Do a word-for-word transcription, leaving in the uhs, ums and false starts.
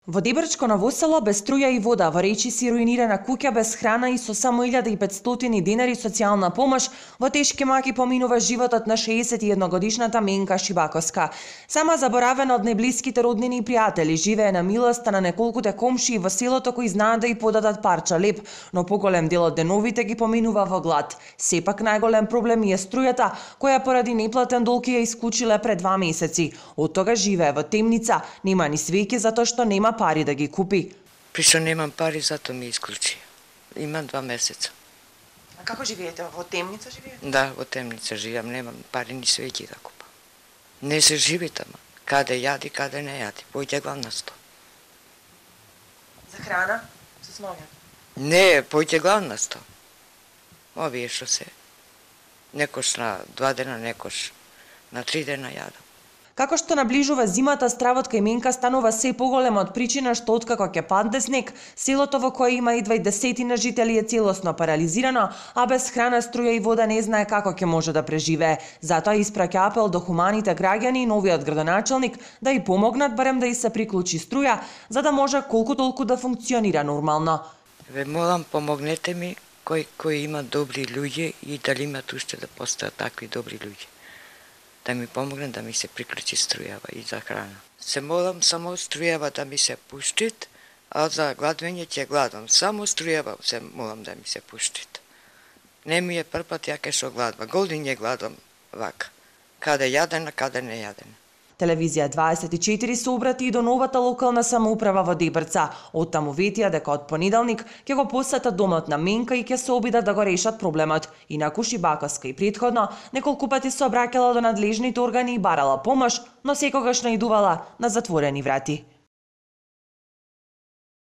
Во Дебрчко Ново село без струја и вода, во речиси руинирана куќа без храна и со само илјада и петстотини денари социјална помош, во тешки маки поминува животот на шеесет и едногодишната Менка Шибаковска. Сама заборавена од најблиските роднини и пријатели, живее на милоста на неколкуте комшии во селото кои знаат да и подадат парча леп, но поголем дел од деновите ги поминува во глад. Сепак најголем проблем е струјата, која поради неплатен долг ја исклучиле пред два месеци. Од тога живее во темница, нема ни свеќе затоа што нема пари да ги купи. Пришо немам пари, зато ми исклучи. Имам два месеца. А како живеете? Во темница живеете? Да, во темница живеам, немам пари ни свеќи да купам. Не се живи тама. Каде јади, каде не јади. Појде главна сто. За храна? Се смогат? Не, појде главна сто. Овие што се. Некош на два дена, некош на три дена јадам. Како што наближува зимата, стравот кај Менка станува се поголем од причина што откако ќе падне снег, селото во кое има и дваесетина жители е целосно парализирано, а без храна, струја и вода не знае како ќе може да преживее. Затоа испраќа апел до хуманите граѓани и новиот градоначелник да и помогнат барем да и се приклучи струја, за да може колку толку да функционира нормално. Ве молам, помогнете ми кои кои има добри луѓе и дали имат уште да постојат такви добри луѓе. Да ми помогне да ми се приклучи струјава и за храна. Се молам само струјава да ми се пуштит, а за гладвење ќе гладам. Само струјава се молам да ми се пуштит. Не ми е прпат ја ке шо гладва. Години гладам вака. Каде јадена, каде не јадена. Телевизија дваесет и четири се обрати и до новата локална самоуправа во Дебрца. Оттаму ветија дека од понеделник ќе го посетат домот на Менка и ќе се обидат да го решат проблемот. Инаку Шибаковска и претходно неколку пати се обраќала до надлежните органи и барала помош, но секогаш наидувала на затворени врати.